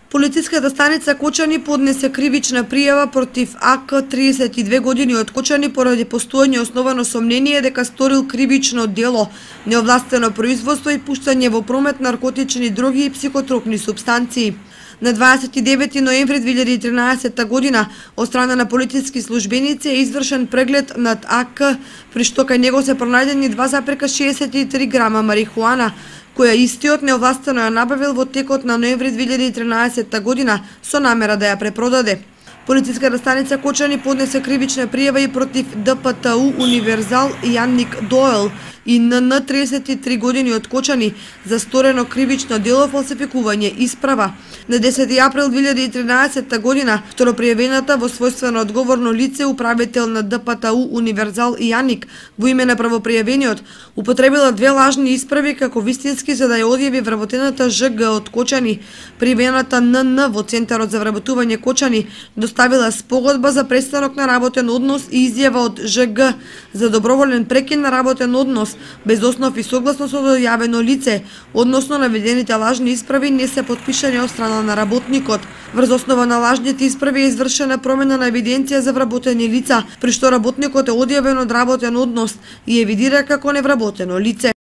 Полициската станица Кочани поднесе кривична пријава против АК 32 години од Кочани поради постоење основано сомнение дека сторил кривично дело, неовластено производство и пуштање во промет наркотични дроги и психотропни супстанции. На 29 ноември 2013 година од страна на полициски службеници е извршен преглед над АК, при што кај него се пронајдени 2,63 грама марихуана, која истиот неовластено ја набавил во текот на ноември 2013 година со намера да ја препродаде. Полициската станица Кочани поднесе кривична пријава и против ДПТУ Универзал Јанник Доел и НН 33 години од Кочани за сторено кривично дело фалсификување исправа. На 10 април 2013 година второпријавената во својствено одговорно лице управител на ДПТУ Универзал Јанник во име на правопријавениот употребила две лажни исправи како вистински за да ја одјави вработената ЖГ од Кочани. Пријавената НН во Центарот за вработување Кочани доставила спогодба за престанок на работен однос и изјава од ЖГ за доброволен прекин на работен однос без основ и согласно со дојавено лице, односно наведените лажни исправи не се потпишани од страна на работникот. Врз основа на лажните исправи е извршена промена на евиденција за вработени лица, при што работникот е одјавен од работен однос и евидира како невработено лице.